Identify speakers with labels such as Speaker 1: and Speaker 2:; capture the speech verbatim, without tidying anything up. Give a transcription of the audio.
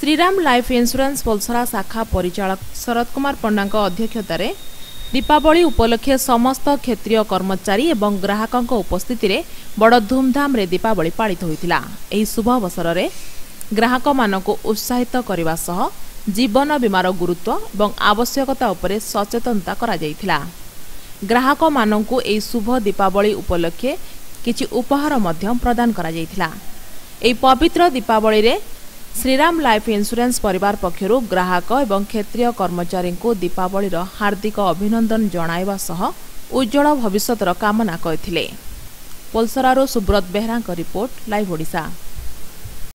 Speaker 1: Shriram life insurance Polasara ଶାଖା ପରିଚାଳକ ଶରତ କୁମାର ପଣ୍ଡାଙ୍କ ଅଧ୍ୟକ୍ଷତାରେ ଦୀପାବଳି ଉପଲକ୍ଷେ ସମସ୍ତ କ୍ଷେତ୍ରୀୟ କର୍ମଚାରୀ ଏବଂ ଗ୍ରାହକଙ୍କ ଉପସ୍ଥିତିରେ ବଡ଼ ଧୁମଧାମରେ ଦୀପାବଳି ପାଳିତ ହୋଇଥିଲା। ଏହି ଶୁଭ ଅବସରରେ ଗ୍ରାହକମାନଙ୍କୁ ଉତ୍ସାହିତ କରିବା ସହ ଜୀବନ ବୀମାର ଗୁରୁତ୍ୱ ଏବଂ ଆବଶ୍ୟକତା ଉପରେ ସଚେତନତା କରାଯାଇଥିଲା। ଗ୍ରାହକମାନଙ୍କୁ ଏହି ଶୁଭ ଦୀପାବଳି ଉପଲକ୍ଷେ କିଛି ଉପହାର ମଧ୍ୟ ପ୍ରଦାନ କରାଯାଇଥିଲା। ଏହି ପବିତ୍ର ଦୀପାବଳିରେ ଶ୍ରୀରାମ ଲାଇଫ୍ ଇନ୍ସୁରାନ୍ସ ପରିବାର ପକ୍ଷରୁ ଗ୍ରାହକ ଏବଂ କ୍ଷେତ୍ରୀୟ କର୍ମଚାରୀଙ୍କୁ ଦୀପାବଳିର ହାର୍ଦ୍ଦିକ ଅଭିନନ୍ଦନ ଜଣାଇବା ସହ ଉଜ୍ଜ୍ୱଳ ଭବିଷ୍ୟତର କାମନା କରିଥିଲେ। ପୋଲସରାରୁ ସୁବ୍ରତ ବେହେରାଙ୍କ ରିପୋର୍ଟ, ଲାଇଭ୍ ଓଡ଼ିଶା।